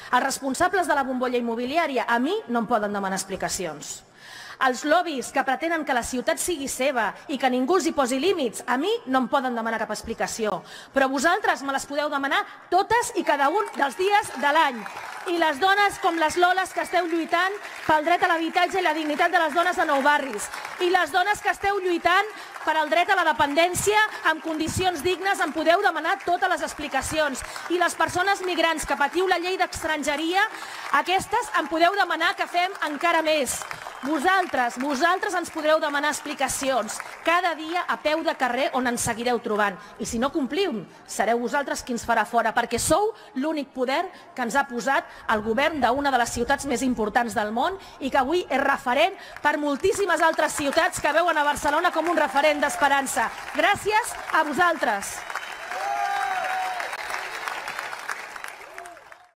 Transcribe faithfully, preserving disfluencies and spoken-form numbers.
Els responsables de la bombolla immobiliària a mi no em poden demanar explicacions. Els lobbies que pretenen que la ciutat sigui seva i que ningú els hi posi límits, a mi no em poden demanar cap explicació. Però vosaltres me les podeu demanar totes i cada un dels dies de l'any. I les dones com les Loles que esteu lluitant pel dret a l'habitatge i la dignitat de les dones de Nou Barris. I les dones que esteu lluitant per al dret a la dependència amb condicions dignes em podeu demanar totes les explicacions. I les persones migrants que patiu la llei d'estrangeria, aquestes em podeu demanar que fem encara més. Vosaltres, vosaltres ens podreu demanar explicacions cada dia a peu de carrer on ens seguireu trobant. I si no compliu, sereu vosaltres qui ens farà fora, perquè sou l'únic poder que ens ha posat el govern d'una de les ciutats més importants del món i que avui és referent per moltíssimes altres ciutats que veuen a Barcelona com un referent d'esperança. Gràcies a vosaltres.